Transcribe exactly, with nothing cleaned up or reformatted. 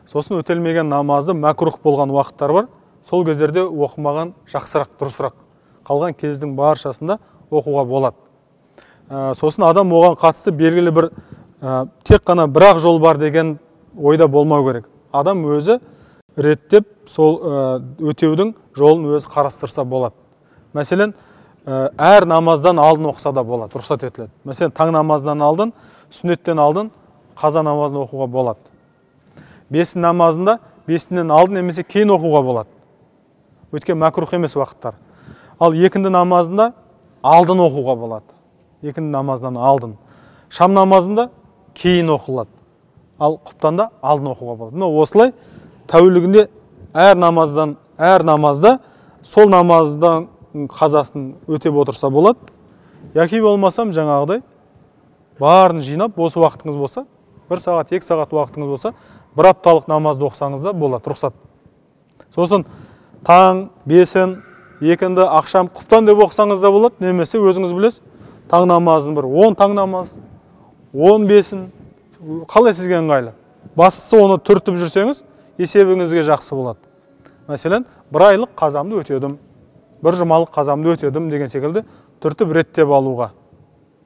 Сосын өтелмеген намазы мәкрух болған уақыттар бар. Сол кездерде оқымаған жақсырақ, дұрысырақ. Қалған кездің баршасында оқуға болады. Сосын адам оған қатысты белгілі бір тек қана бір-ақ жол бар деген ойда болмау керек. Адам өзі реттеп сол өтеудің жолын өзі қарастырса болады. Мәселен, әр намаздан алдын оқыса да болады, рұқсат етіледі. Мәселен, таң намаздан алдын, сүннеттен алдын қаза намазын оқуға болады. Бесін намазында бесінен алдын немесе кейін оқуға болады. Өткен мәкрух емес уақыттар. Ал екінді намазында алдын оқуға болады. Екінді намаздан алдын. Шам намазында кейін оқылады. Ал құптанда алдын оқуға болады. Мына осылай тәулігінде әр намаздан, әр намазда сол намаздан қазасын өтеп отырса болады. Яки болмасам жаңағыдай барын жинап, осы уақытыңыз болса, бір сағат, екі сағат уақытыңыз болса, бір апталық намазды оқысаңыз да болады, рұқсат. Сосын таң, бесін, екінді, ақшам, құптан деп оқысаңыз да болады, немесе өзіңіз білесіз, таң намазын бір он таң намаз, он бесін, қалай сізге ыңғайлы. Бастысы оны түртіп жүрсеңіз, есебіңізге жақсы болады. Мәселен, бір айлық қазамды өтедім, бір жұмалық қазамды өтедім деген секілді түртіп реттеп алуға.